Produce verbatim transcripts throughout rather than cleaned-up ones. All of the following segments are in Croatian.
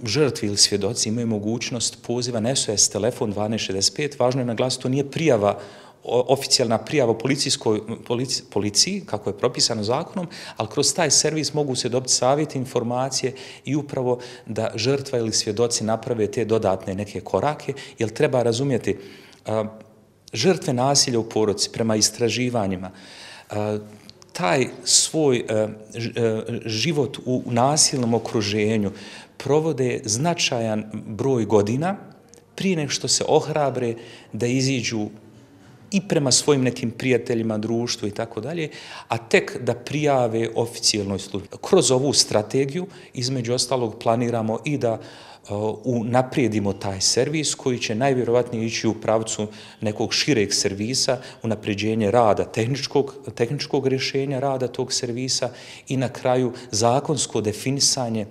žrtvi ili svjedoci imaju mogućnost poziva na S O S telefon dvanaest šezdeset pet. Važno je naglasiti, to nije prijava, oficijalna prijava u policijskoj, polici, policiji, kako je propisano zakonom, ali kroz taj servis mogu se dobiti savjeti, informacije i upravo da žrtva ili svjedoci naprave te dodatne neke korake, jer treba razumjeti, a, žrtve nasilja u porodici prema istraživanjima, a, taj svoj a, život u nasilnom okruženju provode značajan broj godina prije nego što se ohrabre da iziđu i prema svojim nekim prijateljima, društvu i tako dalje, a tek da prijave oficijalnoj službi. Kroz ovu strategiju, između ostalog, planiramo i da unaprijedimo taj servis koji će najvjerovatnije ići u pravcu nekog šireg servisa, unapređenje rada, tehničkog, tehničkog rješenja rada tog servisa i na kraju zakonsko definisanje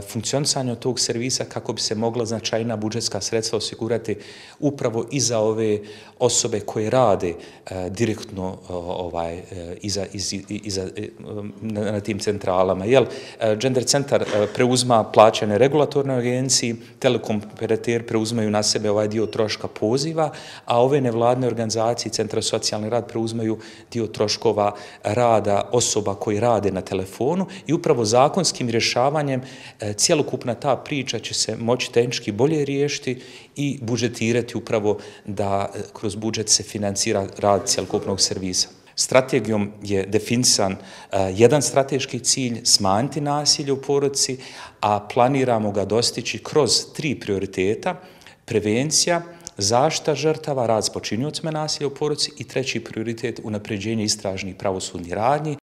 funkcionisanja tog servisa kako bi se mogla značajna budžetska sredstva osigurati upravo i za ove osobe koje rade direktno ovaj, iza, iza, iza, na tim centralama. Jel, Gender centar preuzma plaćane regulatornoj agenciji, telekom operateri preuzmaju na sebe ovaj dio troška poziva, a ove nevladne organizacije, Centra za socijalni rad, preuzmaju dio troškova rada osoba koji rade na telefonu i upravo zakonskim rješavanjem cjelokupna ta priča će se moći tehnički bolje riješiti i budžetirati upravo da kroz budžet se financira rad cjelokupnog servisa. Strategijom je definisan uh, jedan strateški cilj, smanjiti nasilje u porodici, a planiramo ga dostići kroz tri prioriteta: prevencija, zaštita žrtava, rad s počiniocima nasilja u porodici i treći prioritet, unapređenje istražnih pravosudnih radnji.